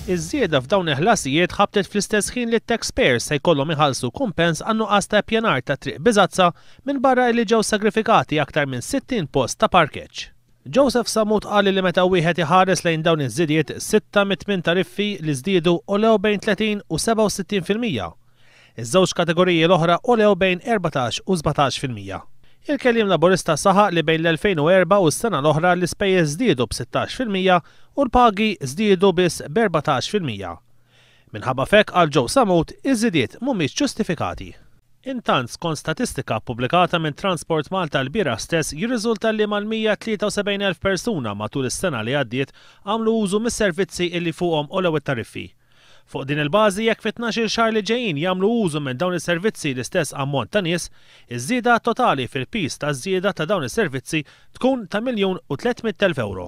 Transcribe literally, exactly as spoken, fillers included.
Iż-żieda f'dawn il-ħlasijiet ħabtet fl-istess ħin li t-taxpayers se jkollhom iħallsu kumpens għan-nuqqas ta' ppjanar ta' Triq Biżazza, minbarra li ġew sagrifikati aktar minn sittin post ta' parkeġġ. Joseph Sammut qal li meta wieħed iħares lejn dawn iż-żidiet, sitta mit-tmien tariffi li żdiedu għolew bejn tletin u sebgħa u sittin fil-mija. Iż-żewġ kategoriji l-oħra għolew bejn erbatax u sbatax fil-mija. Il-kelliem Laburista saħaq li bejn l-elfejn u erbgħa u s-sena l-oħra l-ispejjeż żdiedu b'sittax fil-mija u l-pagi żdiedu biss b'erbatax fil-mija. Minħabba f'hekk, għal Joe Sammut, iż-żidiet mhumiex ġustifikati. Intant, skont statistika pubblikata minn Transport Malta l-bieraħ stess, jirriżulta li mal-mija tlieta u sebgħin elf persuna matul is-sena li għaddiet għamlu użu mis-servizzi illi fuqhom għolew it-tariffi. Fuq din il-bażi, jekk fit tnax-il xahar li ġejjin jagħmlu użu minn dawn is-servizzi l-istess ammont ta' nies, iż-żieda totali fil-piż ta' żieda ta' dawn is-servizzi tkun ta' miljun u tliet mitt elf euro.